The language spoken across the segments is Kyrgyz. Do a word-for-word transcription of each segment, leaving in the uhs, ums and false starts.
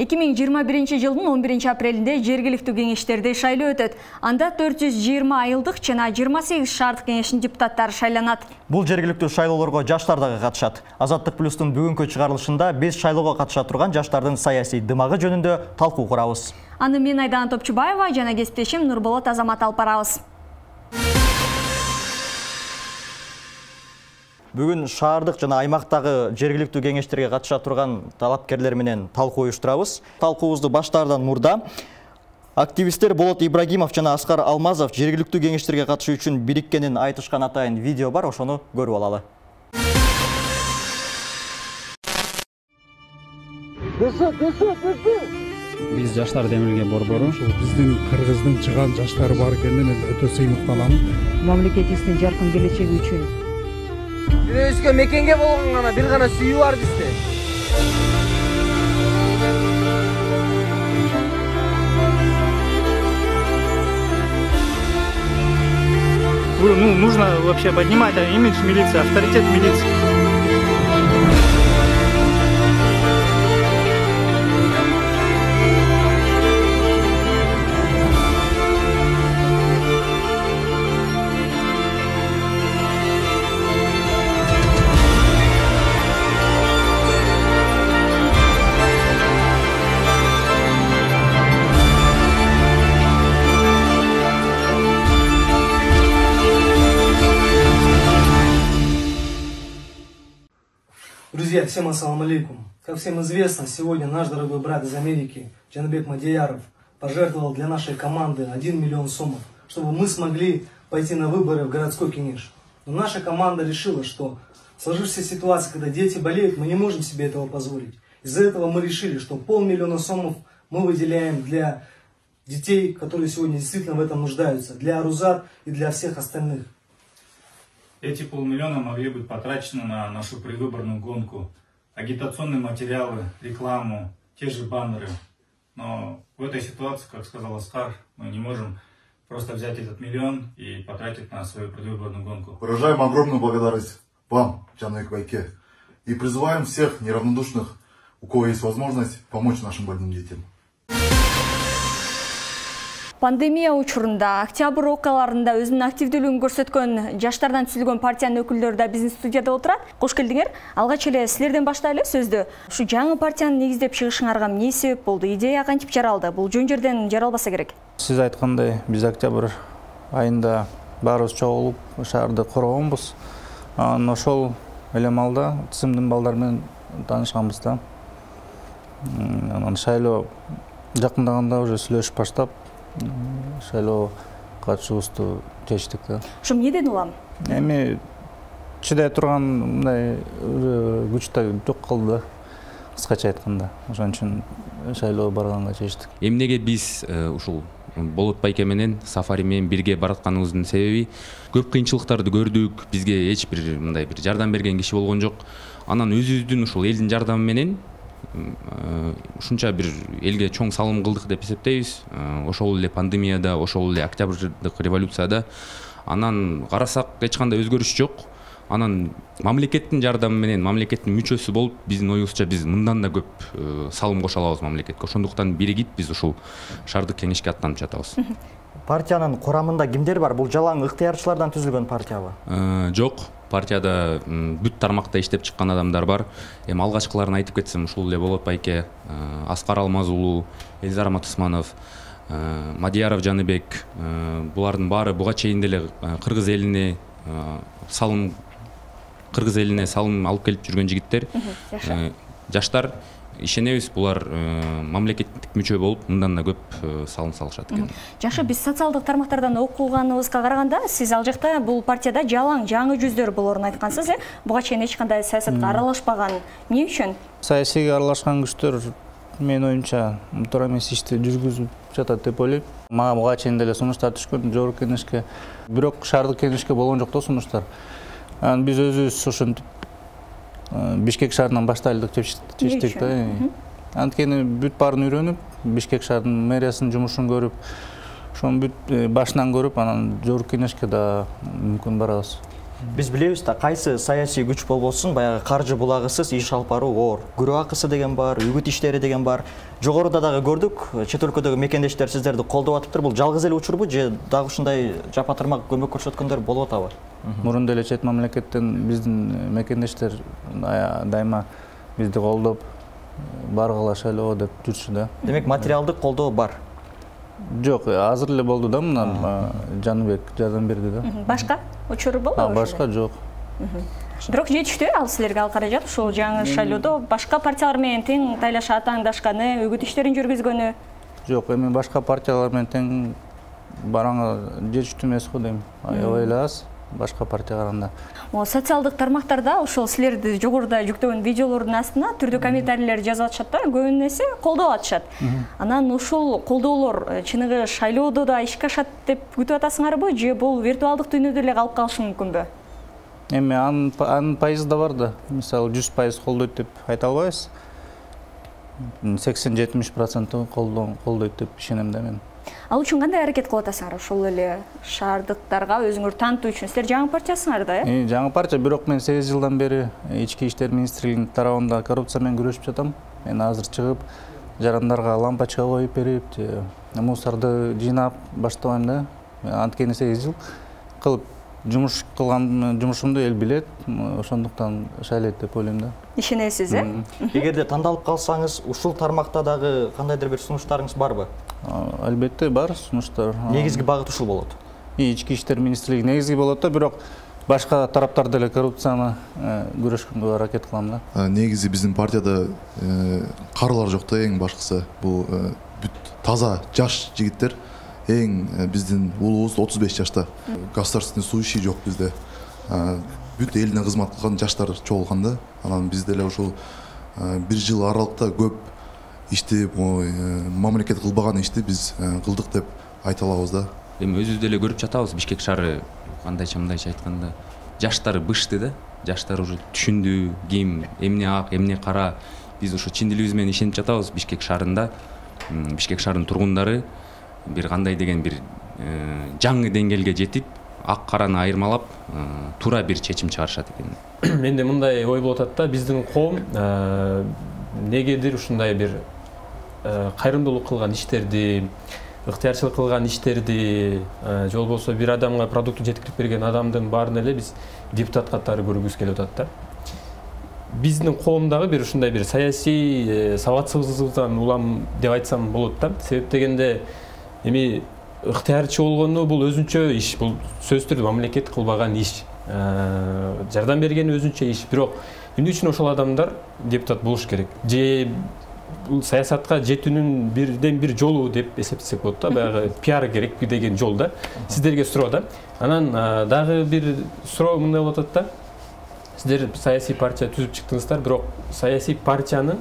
эки миң жыйырма биринчи жылдын он биринчи апрелинде жергиликтүү кеңештерде шайлоо өтөт. Анда төрт жүз жыйырма айылдык жана жыйырма сегиз шаардык кеңештин депутаттары шайланат. Бул жергиликтүү шайлоолорго жаштар дагы катышат. Азаттык плюстун бүгүнкү чыгарылышында биз шайлоого катыша турган жаштардын саясий дымагы жөнүндө талкуу курабыз. Аны мен Айдан Топчубаева жана кесиптешим Нурболот Азамат алып барабыз. Бүгүн шаардык жана аймактагы жергиликтүү кеңештерге катыша турган талапкерлер менен талкуу уюштурабыз. Талкуубузду баштаардан мурда активисттер Болот Ибрагимов жана Аскар Алмазов жергиликтүү кеңештерге катышуу үчүн бириккенин айтышкан атайын видео бар, ошону көрүп алалы. Биз жаштар демилген борбору биздин Кыргыздын чыган жаштары бар экенин өтө сыймыкталам. Мамлекетибиздин жаркын келечеги үчүн Өзгө мекенге болгон гана бир гана сүйүү бар бизде. Ну, нужно вообще поднимать имидж милиции, авторитет милиции. Друзья, всем ассаламу алейкум. Как всем известно, сегодня наш дорогой брат из Америки, Джанабек Мадияров, пожертвовал для нашей команды один миллион сомов, чтобы мы смогли пойти на выборы в городской кенеш. Но наша команда решила, что в сложившейся ситуации, когда дети болеют, мы не можем себе этого позволить. Из-за этого мы решили, что полмиллиона сомов мы выделяем для детей, которые сегодня действительно в этом нуждаются, для Арузат и для всех остальных. Эти полмиллиона могли быть потрачены на нашу предвыборную гонку, агитационные материалы, рекламу, те же баннеры. Но в этой ситуации, как сказал Оскар, мы не можем просто взять этот миллион и потратить на свою предвыборную гонку. Выражаем огромную благодарность вам, Джанабек Байке, и призываем всех неравнодушных, у кого есть возможность, помочь нашим больным детям. Пандемия учурунда октябрь окуяларында өзүнүн активдүүлүгүн көрсөткөн жаштардан түзүлгөн партиянын өкүлдөрү да биздин студияда отурат. Кош келдиңер. Алгач эле силерден баштайлы сөздү. Ушу жаңы партияны негиздеп чыгышыңарга эмне себеп болду? Идея кантип жаралды? Бул жөн жерден жаралбаса керек. Сиз айткандай, биз октябрь айында баарыбыз чогулуп шаарды коргонбуз. Анан ошол эле маалда тизимдин балдар менен таанышканбыз да. Анан шайлоо жакындаганда уже сүйлөшүп баштап шайлоо катышуубузду чечтик да. Ошо эмнеден улам? Эми чыдай турган мындай күч да жок калды да. Кыскача айтканда. Ошон үчүн шайлоо барганга чечтик. Эмнеге биз ушул Болот Байке менен Сафари менен бирге баратканыбыздын себеби көп кыйынчылыктарды көрдүк. Бизге эч бир мындай бир жардам берген киши болгон жок. Анан өзүбүздүн ушул элдин жардамы менен ушунча бир элге чоң салым кылдык деп эсептейбиз. Ошол эле пандемияда, ошол эле октябрдык революцияда. Анан карасак эч кандай өзгөрүш жок. Анан мамлекеттин жардамы менен, мамлекеттин мүчөсү болуп, биздин оюбузча биз мындан да көп салым кошо алабыз мамлекетке. Ошондуктан биригип биз ушул шаардык кеңешке аттанып жатабыз. Партиянын курамында кимдер бар? Бул жалаң ыктыярчылардан түзүлгөн партиябы? Жок. Партияда бүт тармакта иштеп чыккан адамдар бар. Эми алгачкыларын айтып кетсем, ушул эле Болот Байке, Аскар Алмаз уулу, Элизар Аматусманов, Мадияров Жаныбек, булардын баары буга чейин деле кыргыз элине салым кыргыз элине салым алып келип жүргөн жигиттер. Жаштар ишенебиз, булар мамлекеттик мүчө болуп, мындан да көп салым салышат экен. Жакшы, биз социалдык тармактардан окуганыбызга караганда, сиз ал жакта бул партияда жалаң жаңы жүздөр болорун айткансыз, э? Буга чейин эч кандай саясатка аралашпаган. Эмне үчүн? Саясийге аралашкан күчтөр менин оюмча туура эмес ишти жүргүзүп жатат деп ойлойм. Мага буга чейин деле сунуштар түшкөн жогорку кеңешке, бирок шаардык кеңешке болгон жок да сунуштар. Анан биз өзүбүз ошентип Бишкек шаарынан баштайлык деп чечтик да. Анткени бүт баарын үйрөнүп, Бишкек шаарынын мэриясынын жумушун көрүп, ошону бүт башынан көрүп, анан жогорку кеңешке да мүмкүн барабыз. Биз билебиз да, кайсы саясий күч болбосун баягы каржы булагысыз иш алып баруу оор. Күрөө акысы деген бар, үгүт иштери деген бар. Жогоруда дагы көрдүк, чет өлкөдөгү мекендештер сиздерди колдоп атыптыр. Бул жалгыз эле учурбу же дагы ушундай жапа-тырмак көмөк көрсөткөндөр болуп атабы? Мурун деле чет мамлекеттен биздин мекендештер дайыма бизди колдоп баргыла шайлоо деп жүрчү да. Демек материалдык колдоо бар. Жок, азыр эле болду да, мына Жаныбек жардам берди да. Башка учуру болбобу? Башка жок. Бирок жетиштүү ал силерге ал каражат, ушул жаңы шайлоодо башка партиялар менен тең тайлашып аттандашканы, үгүт иштерин жүргүзгөнү? Жок, эми башка партиялар менен тең бараңы жетиштүү эмес го дейм. Аябай эле аз башка партия караганда. Социалдык тармактарда ошол силерди жогоруда жүктөгөн видеолордун астына түрдүү комментарийлер жазып атышат да, көбүн эсе колдоп атышат. Анан ушул колдоолор чыныгы шайлоодо да ишке ашат деп күтүп атасыңарбы, же бул виртуалдык дүйнөдө эле калып калышы мүмкүнбү? Эми анын пайызы да бар да. Мисалы жүз пайыз колдойт деп айта албайбыз. сексен жетимиш процент колдойт деп ишенем да мен. Ал үчүн кандай аракет кылып атасыңар? Ошол эле шаардыктарга өзүңөр таанытуу үчүн. Силер жаңы партиясыңар да, э? Жаңы партия, бирок мен сегиз жылдан бери ички иштер министрлигинин тарабында коррупция менен күрөшүп жатам. Мен азыр чыгып жарандарга лампочка коюп берип, мусорду жыйнап баштабайм да. Анткени сегиз жыл кылып жумуш кылган жумушумду эл билет, ошондуктан шайлайт деп ойлойм да. Ишенесиз, э? Эгерде тандалып калсаңыз, ушул тармакта дагы кандайдыр бир сунуштарыңыз барбы? Албетте бар сунуштар. Негизги багыт ушул болот. Ички иштер министрлиги негизги болот да, бирок башка тараптар деле коррупцияны күрөшкөнгө аракет кылам да. Негизи биздин партияда карылар жок да, эң башкысы. Бул бүт таза жаш жигиттер. Эң биздин улуубуз отуз беш жашта. Государственный служащий жок бизде. Бүт элине кызмат кылган жаштар чогулган да. Анан биз деле ушул бир жыл аралыкта көп ишти, мамлекет кылбаган ишти биз кылдык деп айта алабыз да. Эми өзүбүз деле көрүп жатабыз, Бишкек шаары кандайча мындайча айтканда жаштары бышты да. Жаштар уже түшүндү, ким эмне ак, эмне кара. Биз ошо чын дилибиз менен ишенип жатабыз. Бишкек шаарында, Бишкек шаарынын тургундары бир кандай деген бир жаңы деңгээлге жетип, ак караны айырмалап, туура бир чечим чыгарышат экен. Менде мындай ой болуп атат да, биздин коом негедир ушундай бир кайрымдуулук кылган иштерди, ыктыярчылык кылган иштерди, же болбосо бир адамга продуктун жеткирип берген адамдын баарын эле биз депутат катары көргүбүз келип атат да. Биздин коомдагы бир ушундай бир саясий сабатсыздыктан улам деп айтсам болот да. Себеп дегенде эми ыктыярчы болгону бул өзүнчө иш, бул сөзсүз түрдө мамлекет кылбаган иш. Жардам берген өзүнчө иш, бирок эмне үчүн ошол адамдар депутат болуш керек? Же бул саясатка жетүүнүн бирден бир жолу деп эсептесек болот да, баягы пиар керек деген жол да. Сиздерге суроо да. Анан дагы бир суроо мындай болуп атат да. Сиздер саясий партия түзүп чыктыңыздар, бирок саясий партиянын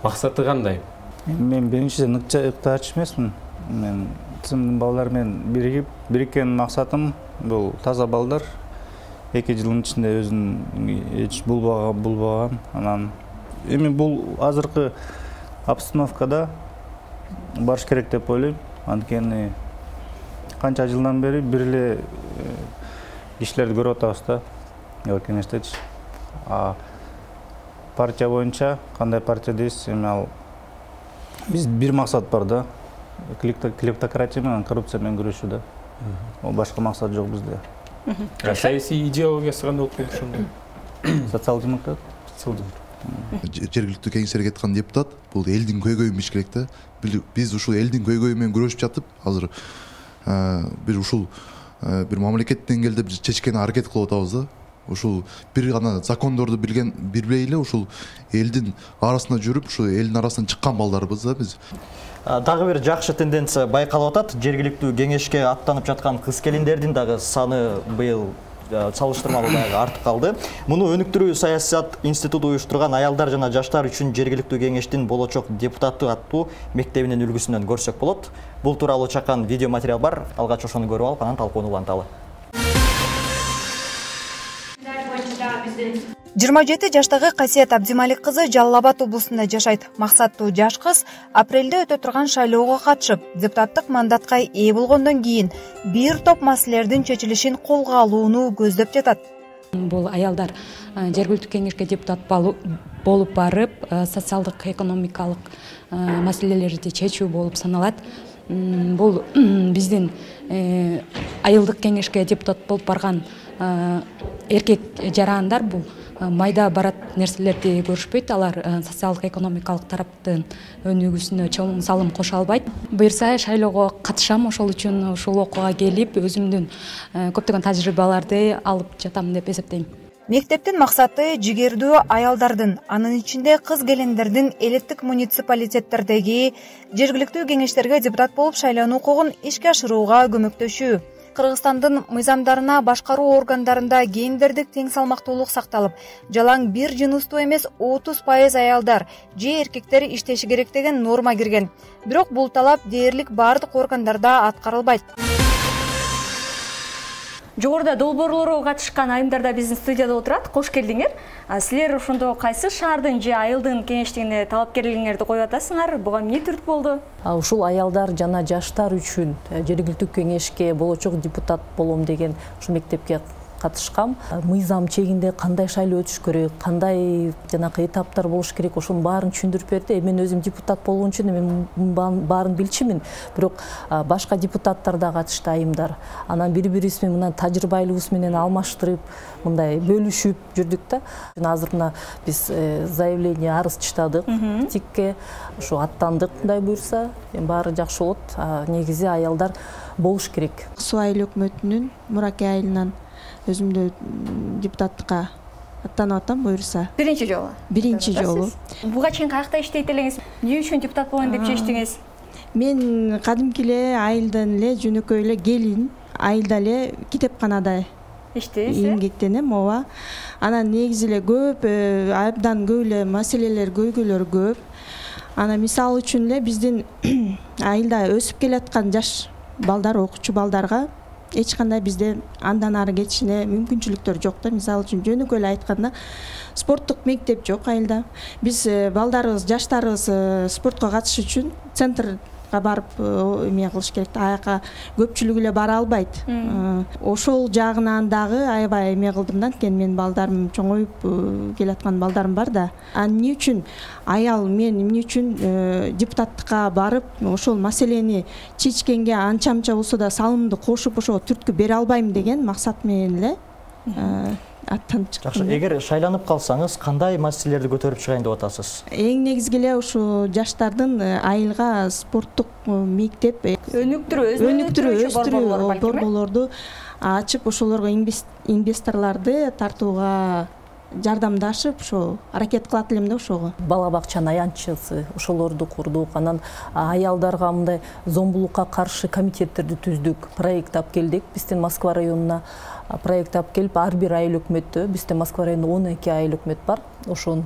максаты кандай? Мен биринчиден ыктыярчы эмесмин. Мен сымдын балдар менен биригип, бириккен максатым бул таза балдар. эки жылдын ичинде өзүн эч булбаган. Анан эми бул азыркы обстановкада барыш керек деп ойлойм. Анткени канча жылдан бери бир эле кишилерди көрүп атабыз да. Кеңештечи. А партия боюнча кандай партия дейсиз? Эми ал биз бир максат бар да. Клептократия менен коррупция менен күрөшүү да. Ол башка максат жок бизде. Саясий идеологиясы кандай болуп калды ошондо? Социал-демократ. Жергиликтүү кеңештерге кеткен депутат бул элдин көйгөйүн бич керек да. Биз ушул элдин көйгөйү менен күрөшүп жатып, азыр бир ушул бир мамлекет деңгээлде бир чечкени аракет кылып атабыз да. Ушул бир гана закондорду билген билбей эле ушул элдин арасында жүрүп, ушул элдин арасынан чыккан балдарбыз да биз. Дагы бир жакшы тенденция байкалып атат. Жергиликтүү кеңешке аттанып жаткан кыз келиндердин дагы саны быйыл салыштырмалуу дагы артып калды. Муну өнүктүрүү саясат институту уюштурган аялдар жана жаштар үчүн жергиликтүү кеңештин болочок депутаты аттуу мектебинин үлгүсүнөн көрсөк болот. Бул тууралуу чакан видео материал бар. Алгач ошону көрүп алып, анан талкууну уланталы. жыйырма жети жаштагы Касиет Абдималик кызы Жалал Абад облусунда жашайт. Максаттуу жаш кыз апрелде өтө турган шайлоого катышып, депутаттык мандатка ээ болгондон кийин бир топ маселелердин чечилишин колго алууну көздөп жатат. Бул аялдар жергиликтүү кеңешке депутат болуп барып, социалдык экономикалык маселелерди чечүү болуп саналат. Бул биздин айылдык кеңешке депутат болуп барган эркек жарандар бул майда барат нерселерди көрүшпөйт. Алар социалдык экономикалык тараптын өнүгүүсүнө чоң салым кошо албайт. Буюрса шайлоого катышам, ошол үчүн ушул окууга келип өзүмдүн көптөгөн тажрыйбаларды алып жатам деп эсептейм. Мектептин максаты жигердүү аялдардын, анын ичинде кыз келиндердин элеттик муниципалитеттердеги жергиликтүү кеңештерге депутат болуп шайлануу укугун ишке ашырууга көмөктөшүү. Кыргызстандын мыйзамдарына башкаруу органдарында гендердик тең салмактуулук сакталып, жалаң бир жыныстуу эмес отуз пайыз аялдар же эркектер иштеши керек деген норма кирген. Бирок бул талап дээрлик бардык органдарда аткарылбайт. Жогоруда долбоорлорго катышкан айымдар да биздин студияда отурат. Кош келдиңер. Силер ошондо кайсы шаардын же айылдын кеңештигине талапкерлигиңерди коюп атасыңар? Буга эмне түртүп болду? Ушул аялдар жана жаштар үчүн жергиликтүү кеңешке болочок депутат болом деген ушул мектепке катышкам. Мыйзам чегинде кандай шайлоо өтүш керек, кандай жанакы этаптар болуш керек, ошонун баарын түшүндүрүп берди. Мен өзүм депутат болгон үчүн мен баарын билчүмүн. Бирок башка депутаттар да катышты, айымдар. Анан бири-бирибиз менен мына тажрыйбалыгыбыз менен алмаштырып, мындай бөлүшүп жүрдүк да. Азыр мына биз заявление, арыз чыштадык тикке, ушу аттандык, мындай буюрса, баары жакшы болот. Негизи аялдар болуш керек. Суу айыл өкмөтүнүн Мураке айылынан өзүмдү депутаттыкка аттанып атам, буюрса. Биринчи жолу. Биринчи жолу. Буга чейин каякта иштейт элеңиз? Эмне үчүн депутат болоюн деп чечтиңиз? Мен кадимки эле айылдан эле жөнөкөй эле келин, айылда эле китепканада иштейсиз? Эмгектенем, ооба. Анан негизи эле көп, абдан көп эле маселелер, көйгөйлөр көп. Анан мисалы үчүн эле биздин айылда өсүп келаткан жаш балдар, окуучу балдарга эч кандай бизде андан ары кетишине мүмкүнчүлүктөр жок да. Мисалы үчүн жөнөкөй эле айтканда, спорттук мектеп жок айылда. Биз балдарыбыз, жаштарыбыз спортко катышыш үчүн центрга барып эме кылыш керек. Аяка көпчүлүгү эле бара албайт. Ошол жагынан дагы аябай эме кылдым да, анткени менин балдарым чоңоюп келаткан балдарым бар да. А эмне үчүн аял мен эмне үчүн депутаттыкка барып ошол маселени чечкенге анча-мынча болсо да салымымды кошуп ошого түрткү бере албайм деген максат менен эле аттанып чыктым. Жакшы, эгер шайланып калсаңыз, кандай маселелерди көтөрүп чыгайын деп атасыз? Эң негизги эле ушу жаштардын айылга спорттук мектеп өнүктүрүү, өнүктүрүү, өстүрүү борборлорду ачып, ошолорго инвесторлорду тартууга жардамдашып, ошо аракет кылат элем да ошого. Бала бакчанын аянтчысы ошолорду курдук. Анан аялдарга мындай зомбулукка каршы комитеттерди түздүк, проект алып келдик. Биздин Москва районуна проект алып келип, ар бир айыл өкмөттө, бизде Москва районунда он эки айыл өкмөт бар. Ошонун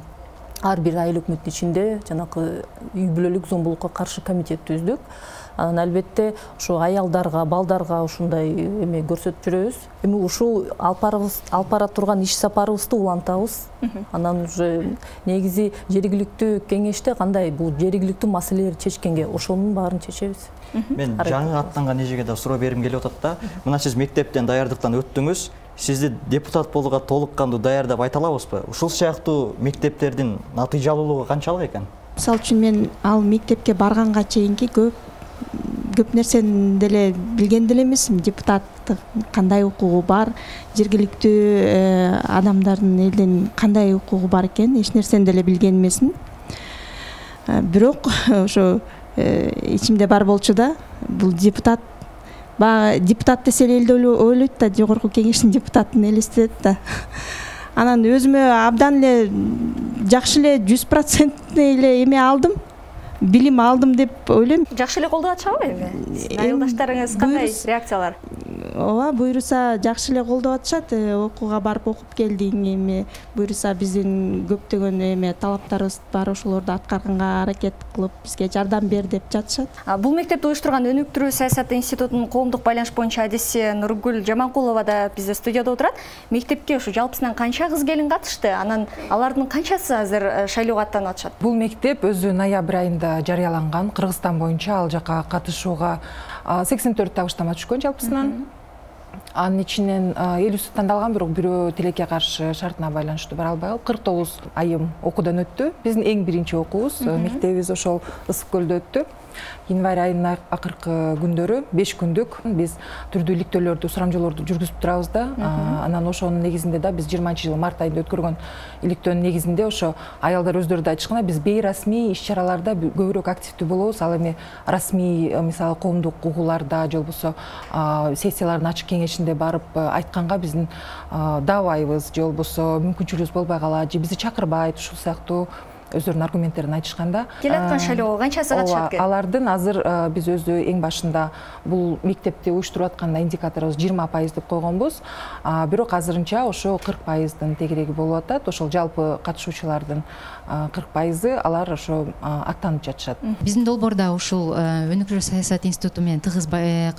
ар бир айыл өкмөттүн ичинде жанакы үй бүлөлүк зомбулукка каршы комитет түздүк. Анан албетте ушу аялдарга, балдарга ушундай эме көрсөтүп жүрөбүз. Эми ушул алып бара турган иш сапарыбызды улантабыз. Анан уже негизи жергиликтүү кеңеште кандай бул жергиликтүү маселелерди чечкенге ошонун баарын чечебиз. Мен жаңы аттанган эжеге да суроо бергим келип атат да. Мына сиз мектептен даярдыктан өттүңүз. Сизди депутат болууга толук кандуу даярдап айта алабызбы? Ушул сыяктуу мектептердин натыйжалуулугу канчалык экен? Мисалы үчүн мен ал мектепке барганга чейинки көп көп нерсени деле билген деле эмесмин. Депутаттык кандай укугу бар, жергиликтүү адамдардын элден кандай укугу бар экен, эч нерсени деле билген эмесмин. Бирок ошо ичимде бар болчу да, бул депутат, баягы депутат десе эле ойлойт да, жогорку кеңештин депутатын элестетет да. Анан өзүмө абдан эле жакшы эле жүз процент эле эме алдым, билим алдым деп ойлойм. Жакшы эле колдоп атышабы эми? Айылдаштарыңыз кандай реакциялар? Ооба, буюрса жакшы эле колдоп атышат. Окууга барып окуп келдиң, эми буюрса биздин көптөгөн эме талаптарыбыз бар, ошолорду аткарганга аракет кылып бизге жардам бер деп жатышат. Бул мектепти уюштурган Өнүктүрүү саясаты институтунун коомдук байланыш боюнча адиси Нургүл Жаманкулова да бизде студияда отурат. Мектепке ушу жалпысынан канча кыз келин катышты? Анан алардын канчасы азыр шайлоого аттанып атышат? Бул мектеп өзү ноябрь айында жарыяланган. Кыргызстан боюнча ал жака катышууга сексен төрт табыштама түшкөн жалпысынан. Анын ичинен элүүсү тандалган, бирок бирөө тилекке каршы шартына байланыштуу бара албай калып кырк тогуз айым окуудан өттү. Биздин эң биринчи окуубуз мектебибиз ошол Ысык көлдө өттү. Январь айынын акыркы күндөрү беш күндүк биз түрдүү иликтөөлөрдү, сурамжоолорду жүргүзүп турабыз да. Анан ошонун негизинде да биз жыйырманчы жылы март айында өткөргөн иликтөөнүн негизинде ошо аялдар өздөрү да айтышкандай, биз бейрасмий иш-чараларда көбүрөөк активдүү болобуз. Ал эми расмий, мисалы коомдук угууларда же болбосо сессиялардын ачык кеңешинде барып айтканга биздин даабайбыз, же болбосо мүмкүнчүлүгүбүз болбой калат, же бизди чакырбайт, ушул сыяктуу өздөрүнүн аргументтерин айтышканда. Келаткан шайлоого канчасы катышат экен? Алардын азыр биз өзү эң башында бул мектепти уюштуруп атканда индикаторубуз жыйырма пайыз деп койгонбуз. Бирок азырынча ошо кырк пайыздын тегереги болуп атат. Ошол жалпы катышуучулардын кырк пайызы алар ошо аттанып жатышат. Биздин долбоордо ушул өнүкүрүү саясат институту менен тыгыз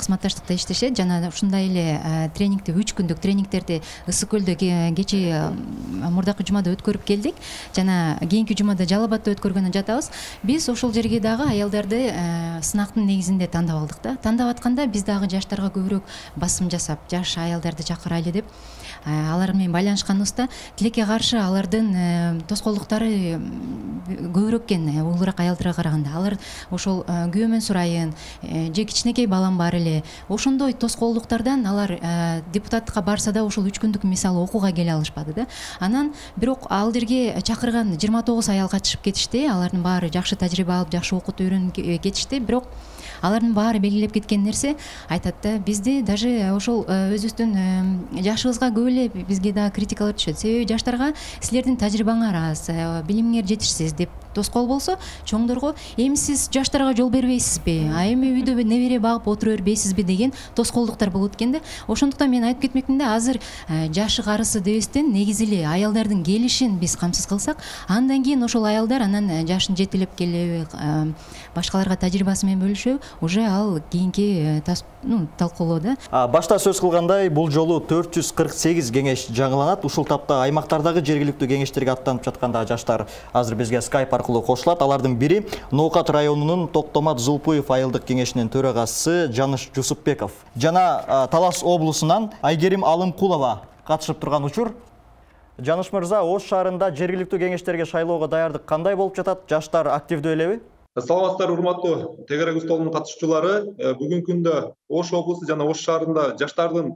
кызматташтыкта иштешет. Жана ушундай эле тренингти, үч күндүк тренингтерди Ысык көлдө кечээ мурдакы жумада өткөрүп келдик. Жана кийинки жумада Жалал Абадда өткөргөнү жатабыз. Биз ошол жерге дагы аялдарды сынактын негизинде тандап алдык да. Тандап атканда биз дагы жаштарга көбүрөөк басым жасап, жаш аялдарды чакырайлы деп алар менен байланышканыбызда тилекке каршы алардын тоскоолдуктары көбүрөөк экен улуураак аялдарга караганда. Алар ошол күйөөмөн сурайын, же кичинекей балам бар эле. Ошондой тоскоолдуктардан алар депутаттыкка барса да ошол үч күндүк мисалы окууга келе алышпады да. Анан бирок ал жерге чакырган жыйырма тогуз аял катышып кетишти. Алардын баары жакшы тажрыйба алып, жакшы окуп үйрөнүп кетишти. Бирок алардын баары белгилеп кеткен нерсе айтат да, бизди даже ошол өзүбүздүн жашыбызга көп эле бизге да критикалар түшөт. Себеби жаштарга силердин тажрыйбаңар аз, билимиңер жетишсиз деп тоскоол болсо, чоңдорго эми сиз жаштарга жол бербейсизби, а эми үйдө небере багып отура бербейсизби деген тоскоолдуктар болот экен да. Ошондуктан мен айтып кетмекмин да, азыр жашы карысы дебестен негизи эле аялдардын келишин биз камсыз кылсак, андан кийин ошол аялдар анан жашын жетелеп келеби, башкаларга тажрыйбасы менен бөлүшөбү, уже ал кийинки талкуулоо да. Башта сөз кылгандай, бул жолу төрт жүз кырк сегиз кеңеш жаңыланат. Ушул тапта аймактардагы жергиликтүү кеңештерге аттанып жатканда жаштар азыр бизге скайп аркылуу кошулат. Алардын бири Ноокат районунун Токтомат Зулпуев айылдык кеңешинин төрагасы Жаныш Жусупбеков. Жана Талас облусунан Айгерим Алымкулова катышып турган учур. Жаныш мырза, Ош шаарында жергиликтүү кеңештерге шайлоого даярдык кандай болуп жатат? Жаштар активдүү элеби? Саламатсыздар, урматтуу тегерек столунун катышуучулары. Бүгүнкү күндө Ош облусу жана Ош шаарында жаштардын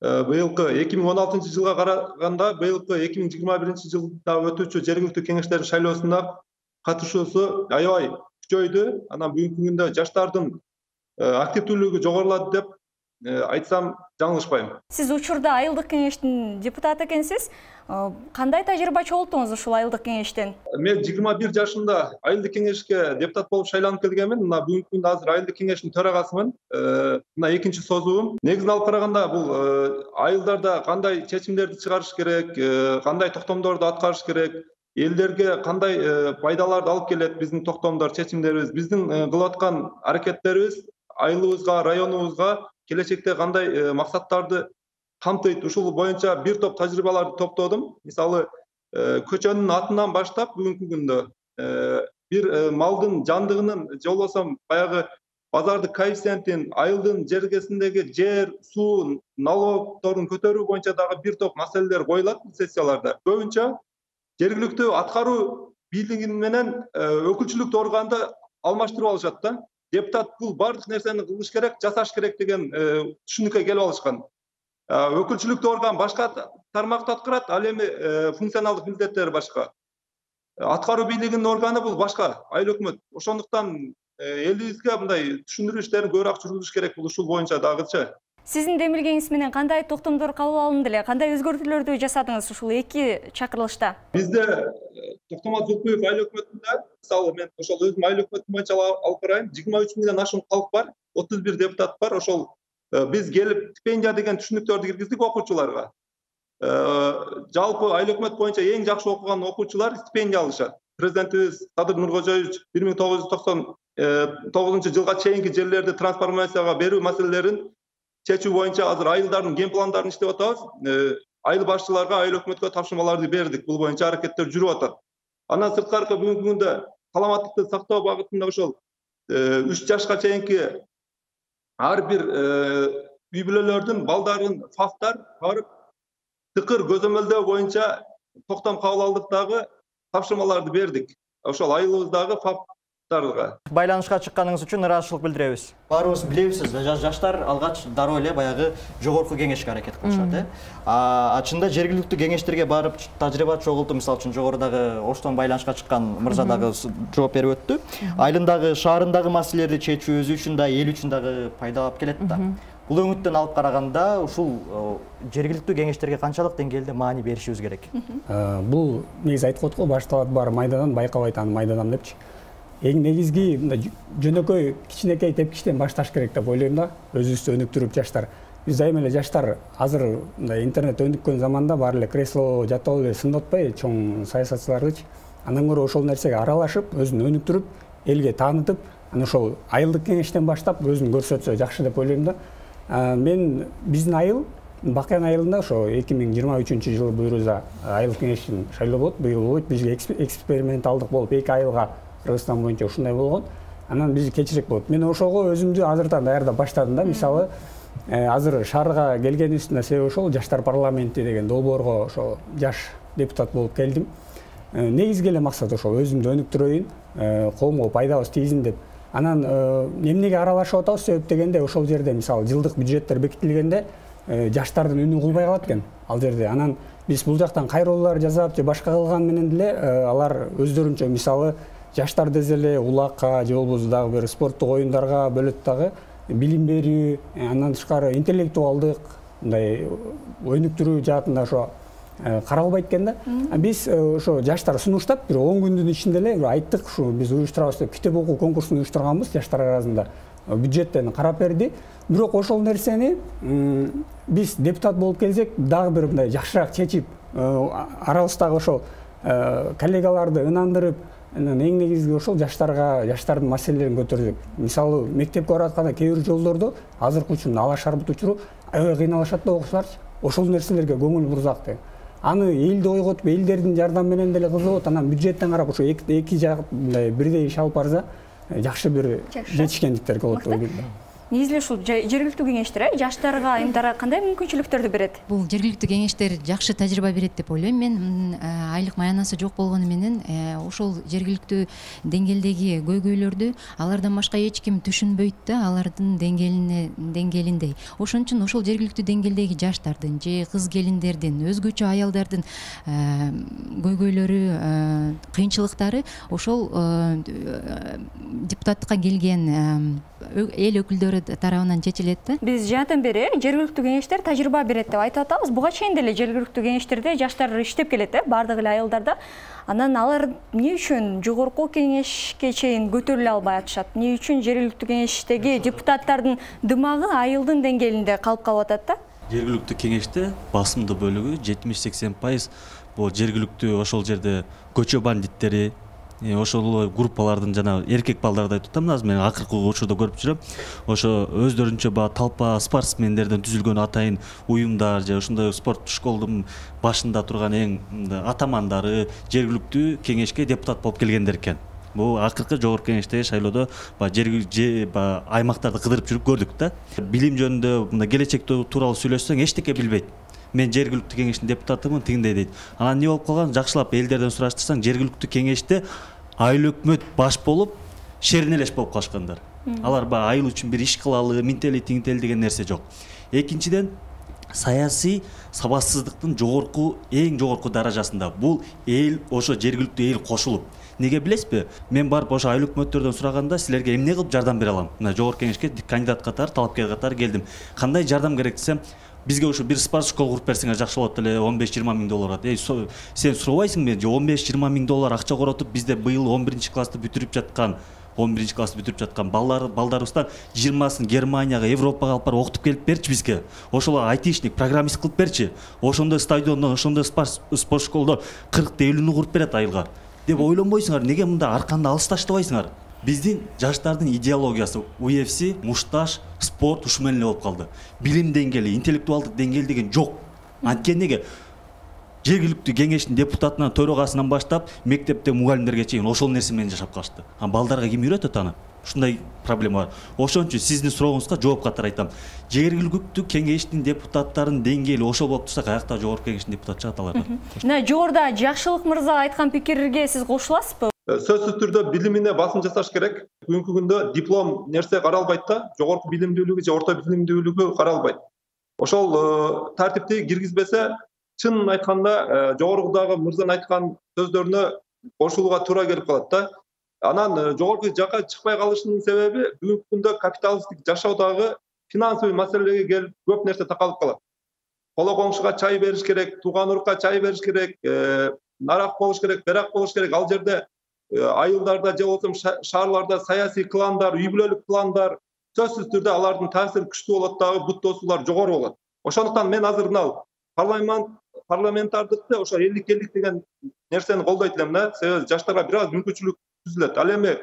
быйылкы эки миң он алтынчы жылга караганда быйылкы эки миң жыйырма биринчи жылда өтүүчү жергиликтүү кеңештердин шайлоосуна катышуусу аябай күчөйдү. Анан бүгүнкү күндө жаштардын активдүүлүгү жогорулады деп айтсам жаңылышпайм. Сиз учурда айылдык кеңештин депутаты экенсиз. Кандай тажрыйба чогулттуңуз ушул айылдык кеңештен? Мен жыйырма бир жашымда айылдык кеңешке депутат болуп шайланып келгенмин. Мына бүгүнкү күндө азыр айылдык кеңештин төрагасымын. Мына экинчи созуум. Негизин алып караганда бул айылдарда кандай чечимдерди чыгарыш керек, кандай токтомдорду аткарыш керек, элдерге кандай пайдаларды алып келет биздин токтомдор, чечимдерибиз, биздин кылып аткан аракеттерибиз айылыбызга, районубузга келечекте кандай максаттарды камтыйт, ушул боюнча бир топ тажрыйбаларды топтодум. Мисалы, көчөнүн атынан баштап бүгүнкү күндө бир малдын жандыгынын же болбосо баягы базардык коэффициентин, айылдын жергесиндеги жер, суу, налогторун көтөрүү боюнча дагы бир топ маселелер коюлат сессияларда. Көбүнчө жергиликтүү аткаруу бийлиги менен өкүлчүлүктүү органды алмаштырып алышат да. Депутат бул бардык нерсени кылыш керек, жасаш керек деген түшүнүккө келип алышкан. Өкүлчүлүктүү орган башка тармакты аткарат, ал эми функционалдык милдеттери башка. Аткаруу бийлигинин органы бул башка, айыл өкмөт. Ошондуктан элибизге мындай түшүндүрүү иштерин көбүрөөк жүргүзүш керек бул ушул боюнча дагычы. Сиздин демилгениңиз менен кандай токтомдор кабыл алынды эле? Кандай өзгөртүүлөрдү жасадыңыз ушул эки чакырылышта? Бизде Токтомат Зулпуев айыл өкмөтүндө, мисалы мен ошол өзүм айыл өкмөтү боюнча алып карайм, жыйырма үч миңден ашуун калк бар, отуз бир депутат бар. Ошол биз келип стипендия деген түшүнүктөрдү киргиздик окуучуларга. Жалпы айыл өкмөт боюнча эң жакшы окуган окуучулар стипендия алышат. Президентибиз Садыр Нуркожоевич бир миң тогуз жүз токсон тогузунчу жылга чейинки жерлерди трансформацияга берүү маселелерин чечүү боюнча азыр айылдардын ген пландарын иштеп атабыз. Айыл башчыларга, айыл өкмөткө тапшырмаларды бердик. Бул боюнча аракеттер жүрүп атат. Андан сырткары бүгүнкү күндө саламаттыкты сактоо багытында ошол үч жашка чейинки ар бир үй бүлөлөрдүн балдарын фактар барып тыкыр көзөмөлдөө боюнча токтом кабыл алдык дагы тапшырмаларды бердик ошол айылыбыздагы фактарга. Байланышка чыкканыңыз үчүн ыраазычылык билдиребиз. Баарыбыз билебиз, жаштар алгач дароо эле баягы жогорку кеңешке аракет кылышат, э. А чында жергиликтүү кеңештерге барып тажрыйба чогулту, мисалы үчүн жогорудагы Оштон байланышка чыккан мырза дагы жооп берип өттү. Айылындагы, шаарындагы маселелерди чечүү өзү үчүн да, эл үчүн дагы пайдалап келет да. Бул өңүттөн алып караганда ушул жергиликтүү кеңештерге канчалык деңгээлде маани беришибиз керек? Бул негизи айтып коет го, башталат баары майдандан, байкабайт аны майданам депчи. Эң негизги мындай жөнөкөй кичинекей тепкичтен башташ керек деп ойлойм да, өзүбүздү өнүктүрүп жаштар. Биз дайыма эле жаштар азыр мындай интернет өнүккөн заманда баары эле кресло жатып алып эле сындатпай чоң саясатчылардычы. Андан көрө ошол нерсеге аралашып, өзүн өнүктүрүп, элге таанытып, анан ошол айылдык кеңештен баштап өзүн көрсөтсө жакшы деп ойлойм да. Мен биздин айыл Бакыян айылында ошо эки миң жыйырма үчүнчү жылы буюрса айылдык кеңештин шайлоо болот, быйыл болот. Бизге эксперименталдык болуп эки айылга Кыргызстан боюнча ушундай болгон. Анан биз кечирээк болот. Мен ошого өзүмдү азыртан даярдап баштадым да. Мисалы, азыр шаарга келгенибиздин себеби ошол жаштар парламенти деген долбоорго ошо жаш депутат болуп келдим. Негизги эле максат ошол өзүмдү өнүктүрөйүн, коомго пайдабыз тийсин деп. Анан эмнеге аралашып атабыз себеп дегенде ошол жерде мисалы жылдык бюджеттер бекитилгенде жаштардын үнү кулбай калат экен ал жерде. Анан биз бул жактан кайрылуулар жасап же башка кылган менен деле алар өздөрүнчө мисалы жаштарды эле улакка же болбосо дагы бир спорттук оюндарга бөлөт дагы билим берүү, андан тышкары интеллектуалдык мындай өнүктүрүү жаатында ошо каралбайт экен да. Биз ошо жаштар сунуштап бир он күндүн ичинде эле айттык, ушу биз уюштурабыз деп китеп окуу конкурсун уюштурганбыз жаштар арасында. Бюджеттен карап берди. Бирок ошол нерсени биз депутат болуп келсек, дагы бир мындай жакшыраак чечип, арабыздагы ошол коллегаларды ынандырып, анан эң негизги ошол жаштарга, жаштардын маселелерин көтөрдүк. Мисалы, мектепке баратканда кээ бир жолдордо азыркы үчүн ала шарбут учуру аябай кыйналышат да окуучуларчы. Ошол нерселерге көңүл бурсак деп. Аны элди ойготуп, элдердин жардамы менен деле кызыгып, анан бюджеттен карап ошо эки жак мындай бирдей иш алып барса, жакшы бир жетишкендиктер болот деп ойлойм. Негизи ушул жергиликтүү кеңештер жаштарга, айымдарга кандай мүмкүнчүлүктөрдү берет? Бул жергиликтүү кеңештер жакшы тажрыйба берет деп ойлойм. Мен айлык маянасы жок болгону менен ошол жергиликтүү деңгээлдеги көйгөйлөрдү алардан башка эч ким түшүнбөйт да, алардын деңгээлине деңгээлиндей. Ошон үчүн ошол жергиликтүү деңгээлдеги жаштардын же кыз келиндердин, өзгөчө аялдардын көйгөйлөрү, кыйынчылыктары ошол депутаттыкка келген эл өкүлдөрү тарабынан чечилет да. Биз жаатан бери жергиликтүү кеңештер тажрыйба берет деп айтып атабыз. Буга чейин деле жергиликтүү кеңештерде жаштар иштеп келет, э, бардык эле айылдарда. Анан алар эмне үчүн жогорку кеңешке чейин көтөрүлө албай атышат? Эмне үчүн жергиликтүү кеңештеги депутаттардын дымагы айылдын деңгээлинде калып калып атат да? Жергиликтүү кеңеште басымдуу бөлүгү жетимиш сексен пайыз бул жергиликтүү ошол жерде көчө бандиттери, ошол группалардын жана эркек балдарды айтып атам, азыр мен акыркы учурда көрүп жүрөм. Ошо өздөрүнчө баягы талпа спортсмендерден түзүлгөн атайын уюмдар же ошондой спорт школдун башында турган эң атамандары жергиликтүү кеңешке депутат болуп келгендер экен. Бул акыркы жогорку кеңештеги шайлоодо баягы аймактарды кыдырып жүрүп көрдүк да. Билим жөнүндө мындай келечек тууралуу сүйлөшсөң эчтеке билбейт. Мен жергиликтүү кеңештин депутатымын, тигиндей дейт. Анан эмне болуп калган? Жакшылап элдерден сураштырсаң, жергиликтүү кеңеште айыл өкмөт баш болуп, шернелеш болуп калышкандар. Алар баягы айыл үчүн бир иш кылалы, минтели, тигинтели деген нерсе жок. Экинчиден, саясий сабатсыздыктын жогорку, эң жогорку даражасында. Бул эл, ошо жергиликтүү эл кошулуп. Неге билесизби? Мен барып ошо айыл өкмөттөрдөн сураганда, силерге эмне кылып жардам бере алам? Мына жогорку кеңешке кандидат катары, талапкер катары келдим. Кандай жардам керек десем, бизге ошо бир спорт школ куруп берсеңер жакшы болот эле, он беш жыйырма миң долларга. Эй, сен сурабайсың мен, он беш жыйырма миң доллар акча коротуп, бизде быйыл он биринчи классты бүтүрүп жаткан, он биринчи классты бүтүрүп жаткан балдар, балдарыбыздан жыйырмасын Германияга, Европага алып барып окутуп келип берчи бизге. Ошолор айтишник, программист кылып берчи. Ошондой стадиондон, ошондой спорт школдон кыркты элүүнү куруп берет айылга. Деп ойлонбойсуңар, неге мында арканды алыс таштабайсыңар? Биздин жаштардын идеологиясы У Эф Си, мушташ, спорт ушу менен эле болуп калды. Билим деңгээли, интеллектуалдык деңгээл деген жок. Анткени жергиликтүү кеңештин депутатынан, төрагасынан баштап, мектепте мугалимдерге чейин ошол нерсе менен жашап калышты. А балдарга ким үйрөтөт аны? ушундай проблема бар. Ошон үчүн сиздин сурооңузга жооп катары айтам. Жергиликтүү кеңештин депутаттарынын деңгээли ошол болуп турса, каякта жогорку кеңештин депутаты чыгат алардан. Мына жогоруда Жакшылык мырза айткан пикирге сиз кошуласызбы? Сөзсүз түрдө билимине басым жасаш керек. Бүгүнкү күндө диплом нерсе каралбайт да, жогорку билимдүүлүгү же орто билимдүүлүгү каралбайт. Ошол тартипти киргизбесе, чынын айтканда жогорудагы мырзанын айткан сөздөрүнө кошулууга туура келип калат да. Анан жогорку жакка чыкпай калышынын себеби бүгүнкү күндө капиталисттик жашоодагы финансовый маселелерге келип көп нерсе такалып калат. Коло коңшуга чай бериш керек, тууган урукка чай бериш керек, нарак болуш керек, берак болуш керек. Ал жерде айылдарда же болбосо шаарларда саясий кландар, үй бүлөлүк кландар, сөзсүз түрдө алардын таасири күчтүү болот дагы, бут тосуулар жогору болот. Ошондуктан мен азыр мына парламент парламентардыкты ошо элдик элдик деген нерсени колдойт элем да. Себеби жаштарга бир аз мүмкүнчүлүк түзүлөт. Ал эми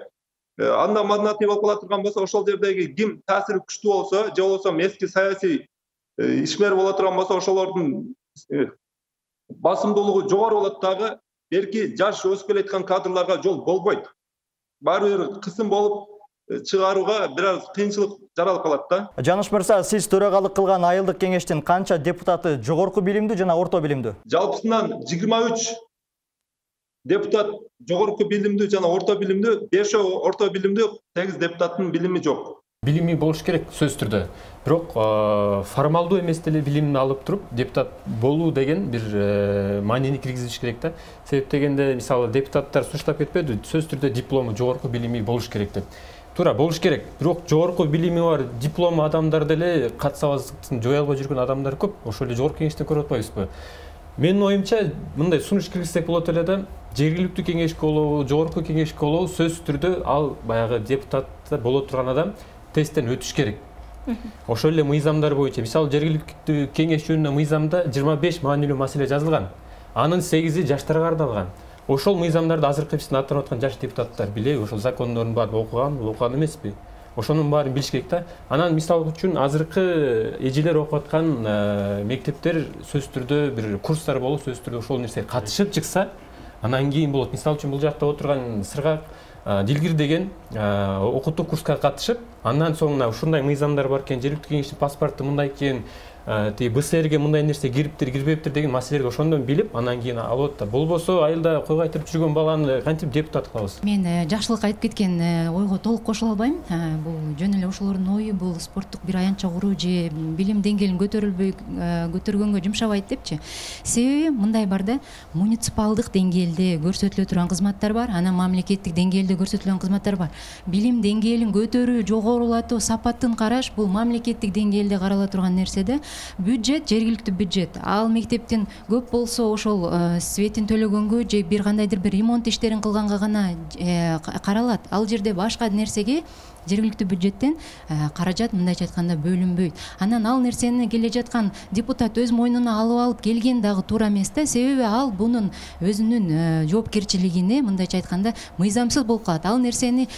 анда мандатный болуп кала турган болсо, ошол жердеги ким таасири күчтүү болсо, же болбосо эски саясий ишмер боло турган болсо, ошолордун басымдуулугу жогору болот дагы. Белки жаш өсүп келаткан кадрларга жол болбойт. Баары бир кысым болуп чыгарууга бир аз кыйынчылык жаралып калат да. Жаныш мырза, сиз төрагалык кылган айылдык кеңештин канча депутаты жогорку билимдүү жана орто билимдүү? Жалпысынан жыйырма үч депутат жогорку билимдүү жана орто билимдүү, бешөө орто билимдүү, сегиз депутаттын билими жок. Билими болуш керек сөзсүз түрдө. Бирок формалдуу эмес деле билимди алып туруп депутат болуу деген бир маанини киргизиш керек да. Себеп дегенде, мисалы, депутаттар сунуштап кетпеди, сөзсүз түрдө диплому, жогорку билими болуш керек деп. Туура болуш керек. Бирок жогорку билими бар диплом адамдар деле катсабаздыктын жое албай жүргөн адамдар көп. Ошол эле жогорку кеңештен көрүп атпайбызбы? Менин оюмча, мындай сунуш киргизсек болот эле да. Жергиликтүү кеңешке болобу, жогорку кеңешке болобу, сөзсүз түрдө ал баягы депутат боло турган адам тесттен өтүш керек. Ошол эле мыйзамдар боюнча, мисалы, жергиликтүү кеңеш жөнүндө мыйзамда жыйырма беш маанилүү маселе жазылган. Анын сегизи жаштарга арналган. Ошол мыйзамдарды азыркы биздин аттанып аткан жаш депутаттар билеби, ошол закондордун баарын окуган, окуган эмеспи? Ошонун баарын билиш керек да. Анан мисал үчүн азыркы эжелер окуп аткан мектептер сөзсүз түрдө бир курстар болуп, сөзсүз түрдө ошол нерсеге катышып чыкса, анан кийин болот. Мисал үчүн бул жакта отурган Сыргак Дилгир деген окутуу курска катышып, андан соң ушундай мыйзамдар бар экен, жергиликтүү кеңештин паспорту мындай экен, тиги БСРге мындай нерсе кириптир, кирбептир деген маселелерди ошондон билип, анан кийин алат да. Болбосо айылда кой кайтырып жүргөн баланы кантип депутат кылабыз? Мен Жакшылык айтып кеткен ойго толук кошула албайм. Бул жөн эле ошолордун ою, бул спорттук бир аянтча куруу же билим деңгээлин көтөрүлбөй көтөргөнгө жумшабайт депчи. Себеби мындай бар да, муниципалдык деңгээлде көрсөтүлө турган кызматтар бар, анан мамлекеттик деңгээлде көрсөтүлгөн кызматтар бар. Билим деңгээлин көтөрүү, жогорулатуу, сапатын караш бул мамлекеттик деңгээлде карала турган нерседе. Бюджет, жергиликтүү бюджет. Ал мектептин көп болсо ошол светин төлөгөнгө же бир кандайдыр бир ремонт иштерин кылганга гана каралат. Ал жерде башка нерсеге жергиликтүү бюджеттен каражат мындайча айтканда бөлүнбөйт. Анан ал нерсени келе жаткан депутат өз мойнуна алып алып келген дагы туура эмес да. Себеби ал бунун өзүнүн жоопкерчилигине мындайча айтканда мыйзамсыз болуп калат. Ал нерсени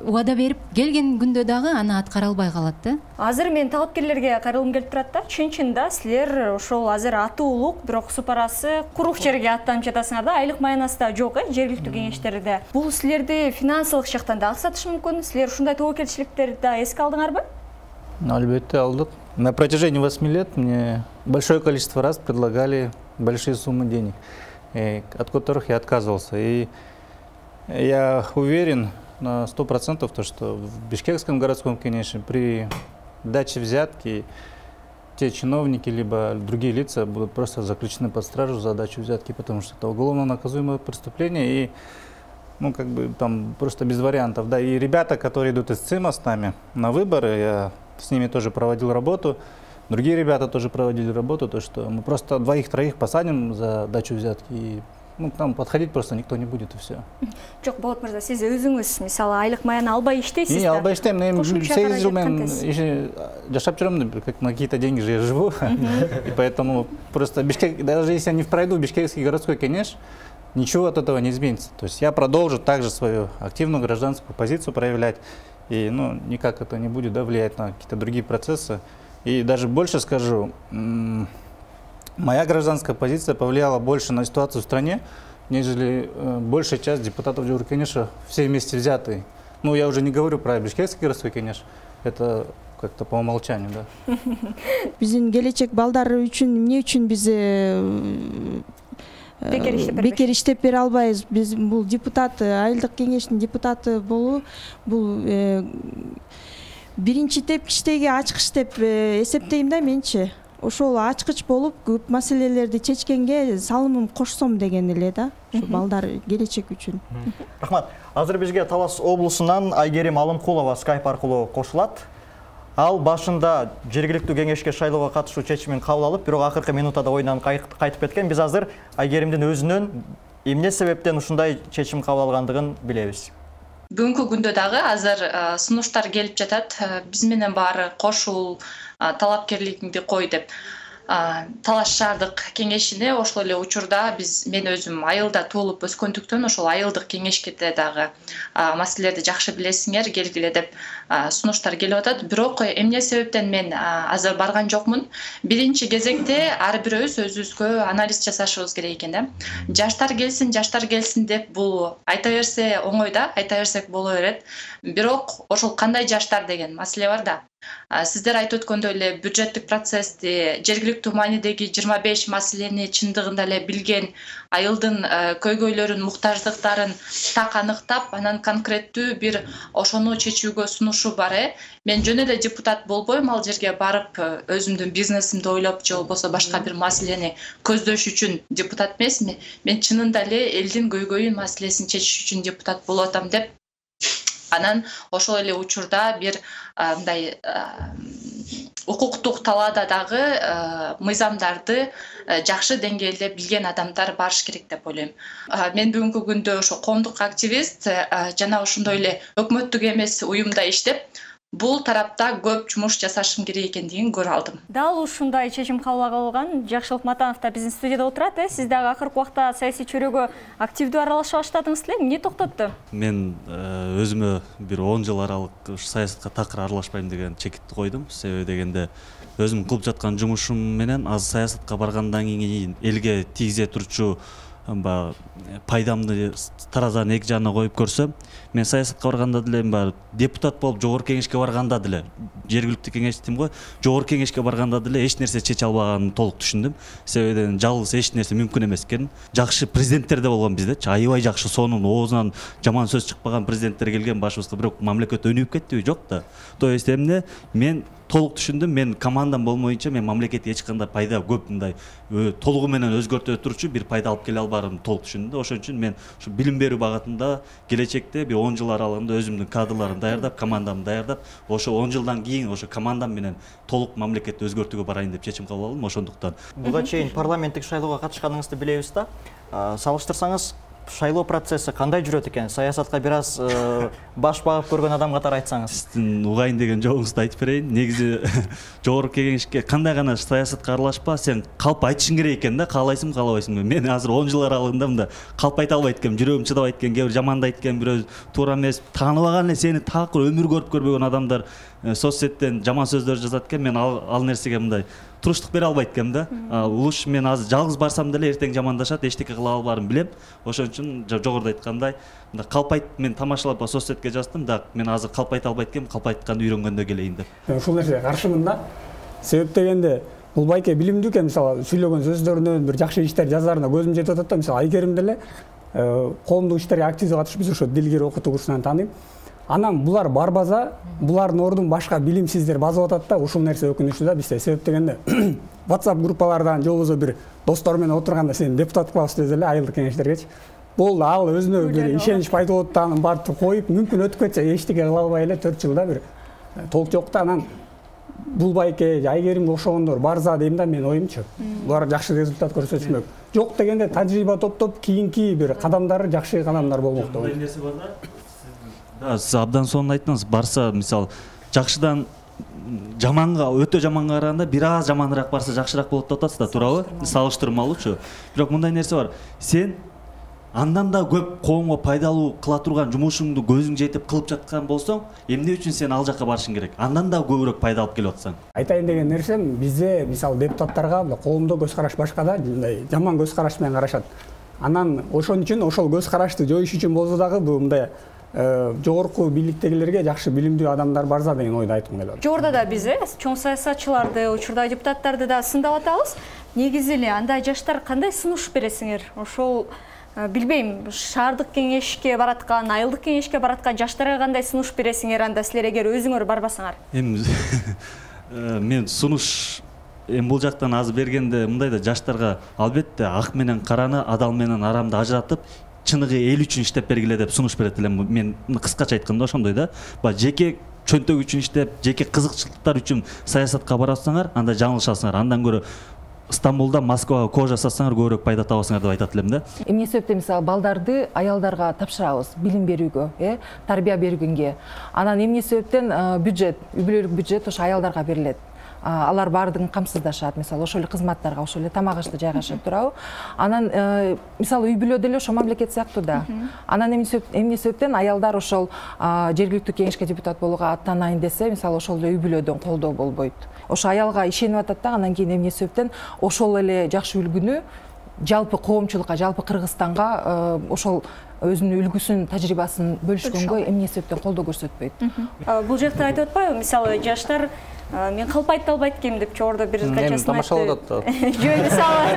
убада берип келген күндө дагы аны аткара албай калат да. Азыр мен талапкерлерге кайрылгым келип турат да. Чын-чында силер ошол азыр аты улук, бирок супарасы курук жерге аттанып жатасыңар да. Айлык маянасы да жок, э, жергиликтүү кеңештерде. Бул силерди финансылык жактан да аксатышы мүмкүн. Силер ушундай тобокелчиликтерди да эске алдыңарбы? Албетте алдык. На протяжении восьми лет мне большое количество раз предлагали большие суммы денег, от которых я отказывался. И я уверен на сто процентов, что в Бишкекском городском кеңеше при даче взятки те чиновники либо другие лица будут просто заключены под стражу за дачу взятки, потому что это уголовно наказуемое преступление и ну, как бы там просто без вариантов. Да, и ребята, которые идут из ЦИМа с нами на выборы, я с ними тоже проводил работу, другие ребята тоже проводили работу, то что мы просто двоих-троих посадим за дачу взятки, и ну, к нам подходить просто никто не будет, и все. Жок, Болот мырза, сиз өзүңүз мисалы айлык маяны албай иштейсиз да? Не, албай иштейм, мен сегиз жыл мен жашап жүрөм, как на какие-то деньги же я живу, и поэтому просто Бишкек, даже если я не пройду Бишкекский городской кеңеш, ничего от этого не изменится. То есть я продолжу также свою активную гражданскую позицию проявлять, и ну, никак это не будет да, влиять на какие-то другие процессы. И даже больше скажу, моя гражданская позиция повлияла больше на ситуацию в стране, нежели большая часть депутатов Жогорку кеңеша все вместе взятые. Ну, я уже не говорю про Бишкекский городской кеңеш. Это как-то по умолчанию, да. Биздин келечек балдары үчүн эмне үчүн биз бекер иштеп бере албайбыз? Биз бул депутат, айылдык кеңештин депутаты болуу бул биринчи тепкичтеги ачкыч деп эсептейм да менчи. Ошол ачкыч болуп көп маселелерди чечкенге салымым кошсом деген эле да. Ушу балдар келечек үчүн. Рахмат. Азыр бизге Талас облусунан Айгерим Алымкулова скайп аркылуу кошулат. Ал башында жергиликтүү кеңешке шайлоого катышуу чечимин кабыл алып, бирок акыркы минутада оюнан кайтып кеткен. Биз азыр Айгеримдин өзүнөн эмне себептен ушундай чечим кабыл алгандыгын билебиз. Бүгүнкү күндө дагы азыр сунуштар келип жатат. Биз менен баары кошул, талапкерлигиңди кой деп. Талаш шаардык кеңешине ошол эле учурда биз мен өзүм айылда туулуп өскөндүктөн ошол айылдык кеңешке дагы маселелерди жакшы билесиңер, келгиле деп сунуштар келип атат. Бирок эмне себептен мен азыр барган жокмун? Биринчи кезекте ар бирөөбүз өзүбүзгө анализ жасашыбыз керек экен да. Жаштар келсин, жаштар келсин деп бул айта берсе оңой да, айта берсек боло берет. Бирок ошол кандай жаштар деген маселе бар да. Сиздер айтып өткөндөй эле бюджеттик процессти, жергиликтүү маанидеги жыйырма беш маселени чындыгында эле билген, айылдын көйгөйлөрүн, муктаждыктарын так аныктап, анан конкреттүү бир ошону чечүүгө сунушу бар э. Мен жөн эле депутат болбойм, ал жерге барып өзүмдүн бизнесимди ойлоп же болбосо башка бир маселени көздөш үчүн депутат эмесмин. Мен чынында эле элдин көйгөйүн, маселесин чечиш үчүн депутат болуп атам деп. Анан ошол эле учурда бир мындай укуктук талаада дагы мыйзамдарды жакшы деңгээлде билген адамдар барыш керек деп ойлойм. Мен бүгүнкү күндө ошо коомдук активист жана ошондой эле өкмөттүк эмес уюмда иштеп, бул тарапта көп жумуш жасашым керек экендигин көрүп алдым. Дал ушундай чечим кабыл алган Жакшылык Матанов да биздин студияда отурат, э. Сиз дагы акыркы убакта саясий чөйрөгө активдүү аралаша баштадыңыз эле. Эмне токтотту? Мен өзүмө бир он жыл аралык саясатка такыр аралашпайм деген чекитти койдум. Себеби дегенде өзүм кылып жаткан жумушум менен аз саясатка баргандан кийин элге тийгизе турчу пайдамды таразанын эки жагына коюп көрсөм, мен саясатка барганда деле баягы депутат болуп жогорку кеңешке барганда деле, жергиликтүү кеңеш дейм го, жогорку кеңешке барганда деле эч нерсе чече албаганын толук түшүндүм. Себеби жалгыз эч нерсе мүмкүн эмес экен. Жакшы президенттер да болгон биздечи, аябай жакшы, сонун оозунан жаман сөз чыкпаган президенттер келген башыбызга, бирок мамлекет өнүгүп кеттиби? Жок да. То есть эмне мен толук түшүндүм, мен командам болмоюнча мен мамлекетке эч кандай пайда көп мындай толугу менен өзгөртө турчу бир пайда алып келе албаарымды толук түшүндүм. Ошон үчүн мен ушу билим берүү багытында келечекте бир он жыл аралыгында өзүмдүн кадрларымды даярдап, командамды даярдап, ошо он жылдан кийин ошо командам менен толук мамлекетти өзгөртүүгө барайын деп чечим кабыл алдым. Ошондуктан буга чейин парламенттик шайлоого катышканыңызды билебиз да. Салыштырсаңыз, шайлоо процесси кандай жүрөт экен? Саясатка бир аз баш багып көргөн адам катары айтсаңыз. Сиздин угайын деген жоогуңузду айтып берейин. Негизи жогорку кеңешке кандай гана саясатка аралашпа, сен калп айтышың керек экен да, каалайсың, каалабайсың. Мен азыр он жыл аралыгында мында калп айта албайт экенмин, жүрөгүм чыдабайт экен, кээ бир жамандайт экен, бирөө туура эмес, тааныбаган эле сени такыр өмүр көрүп көрбөгөн адамдар соцсеттен жаман сөздөр жазат экен. Мен ал, ал нерсеге мындай туруштук бере албайт экенмин да. Улуш мен азыр жалгыз барсам деле эртең жамандашат, эчтеке кыла албаарымды билем. Ошон үчүн жогоруда айткандай, мындай калп айт, мен тамашалап соцсетке жаздым да, мен азыр калп айта албайт экенмин, калп айтканды үйрөнгөндө келейин деп. Ушул нерсеге каршымын да. Себеп дегенде бул байке билимдүү экен, мисалы сүйлөгөн сөздөрүнөн бир жакшы иштер жазарына көзүм жетип атат да. Мисалы Айгерим деле коомдук иштерге активдүү катышып, биз ошо дилгир окутуу курсунан тааныйм. Анан булар барбаса, булардын ордун башка билимсиздер басып атат да. Ушул нерсе өкүнүчтүү да бизде. Себеп дегенде WhatsApp группалардан же болбосо бир достор менен отурганда сен депутат кылабыз десе эле айылдык кеңештергечи, болду, ал өзүнө бир ишенич пайда болуп да, анын баардыгын коюп, мүмкүн өтүп кетсе эчтеке кыла албай эле төрт жылда бир толук жок да. Анан бул байке Айгеримге окшогондор барса дейм да, мен оюмчу. Булар жакшы результат көрсөтүшмөк. Жок дегенде тажрыйба топтоп кийинки бир кадамдары жакшы кадамдар болмок да. Нерсе бар да. Сиз абдан сонун айттыңыз. Барса, мисалы, жакшыдан жаманга, өтө жаманга караганда бир аз жаманыраак барса жакшыраак болот деп атасыз да, туурабы? Салыштырмалуучу. Бирок мындай нерсе бар. Сен андан да көп коомго пайдалуу кыла турган жумушуңду көзүң жетип кылып жаткан болсоң, эмне үчүн сен ал жакка барышың керек? Андан да көбүрөөк пайда алып келип атсаң. Айтайын деген нерсем, бизде мисалы депутаттарга коомдо көз караш башка да, мындай жаман көз караш менен карашат. Анан ошон үчүн ошол көз карашты жоюш үчүн болсо дагы бул мындай жогорку бийликтегилерге жакшы билимдүү адамдар барса деген ойду айткым келет. Жогоруда да биз чоң саясатчыларды, учурда депутаттарды да сындап атабыз. Негизи эле андай жаштар кандай сунуш бересиңер? Ошол билбейм, шаардык кеңешке бараткан, айылдык кеңешке бараткан жаштарга кандай сунуш бересиңер анда силер эгер өзүңөр барбасаңар? Эми мен сунуш эми бул жактан азыр бергенде мындай да жаштарга албетте ак менен караны, адал менен арамды ажыратып, чыныгы эл үчүн иштеп бергиле деп сунуш берет элем. Мен кыскача айтканда ошондой да. Баягы жеке чөнтөк үчүн иштеп, жеке кызыкчылыктар үчүн саясатка барасыңар, анда жаңылышасыңар. Андан көрө Стамбулда, Москвага коо жасасаңар көбүрөөк пайда табасыңар деп айтат элем да. Эмне себептен мисалы балдарды аялдарга тапшырабыз, билим берүүгө, э, тарбия бергенге. Анан эмне себептен бюджет, үй бүлөлүк бюджет ошо аялдарга берилет. Алар баардыгын камсыздашат, мисалы ошол эле кызматтарга, ошол эле тамак ашты жайгашып турабы. Анан мисалы үй бүлө деле ошо мамлекет сыяктуу да. Анан эмне себептен аялдар ошол жергиликтүү кеңешке депутат болууга аттанайын десе, мисалы ошол эле үй бүлөдөн колдоо болбойт. Ошо аялга ишенип атат да, анан кийин эмне себептен ошол эле жакшы үлгүнү жалпы коомчулукка, жалпы Кыргызстанга ошол өзүнүн үлгүсүн, тажрыйбасын бөлүшкөнгө эмне себептен колдоо көрсөтпөйт. Бул жакта айтып атпайбы, мисалы жаштар мен калпайт албайт экенмин деп жогоруда бир качасын айтты. Тамашалап атат. Жөн, мисалы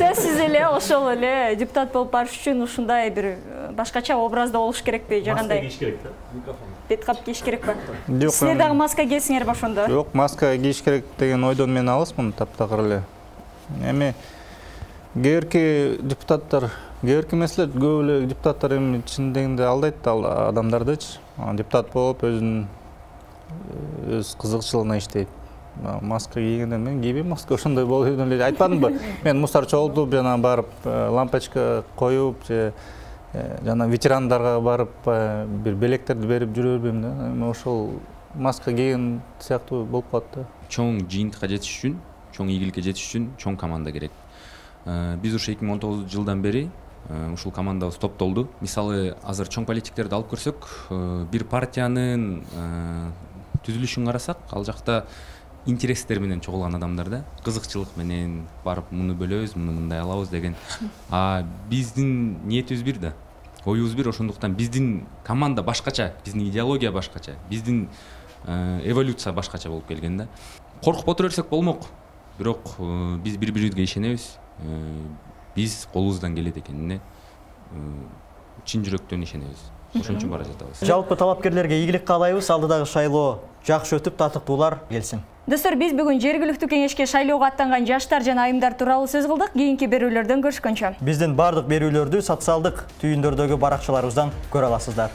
сөзсүз эле ошол эле депутат болуп барыш үчүн ушундай бир башкача образда болуш керекпи, же кандай? Маска кийиш керек да. Микрофон. Бет кап кийиш керекпи? Жок. Силер дагы маска кийсиңерби ошондо? Жок, маска кийиш керек деген ойдон мен алысмын таптакыр эле. Эми кээ депутаттар, кээ эмеслер көп эле депутаттар эми чын дегенде алдайт адамдардычы. Депутат болуп өзүнүн өз кызыкчылыгына иштейт. Маска кийгенде мен кийбейм маска, ошондой болуп эле айтпадымбы? Мен мусор чогултуп, жана барып лампочка коюп, же жана ветерандарга барып бир белектерди берип жүрө бербейм да. Эми ошол маска кийген сыяктуу болуп калат да. Чоң жыйынтыкка жетиш үчүн, чоң ийгиликке жетиш үчүн чоң команда керек. Биз ушу эки миң он тогузунчу жылдан бери ушул командабыз топтолду. Мисалы, азыр чоң политиктерди алып көрсөк, бир партиянын түзүлүшүн карасак, ал жакта интерестер менен чогулган адамдар да, кызыкчылык менен барып муну бөлөбүз, муну мындай алабыз деген. А биздин ниетибиз бир да, оюбуз бир, ошондуктан биздин команда башкача, биздин идеология башкача, биздин эволюция башкача болуп келген да. Коркуп отура берсек болмок, бирок биз бири-бирибизге ишенебиз. Биз колубуздан келет экенине чын жүрөктөн ишенебиз. Ошон үчүн бара жатабыз. Жалпы талапкерлерге ийгилик каалайбыз, алдыдагы шайлоо жакшы өтүп, татыктуулар келсин. Достор, биз бүгүн жергиликтүү кеңешке шайлоого аттанган жаштар жана айымдар тууралуу сөз кылдык. Кийинки берүүлөрдөн көрүшкөнчө. Биздин бардык берүүлөрдү социалдык түйүндөрдөгү баракчаларыбыздан көрө аласыздар.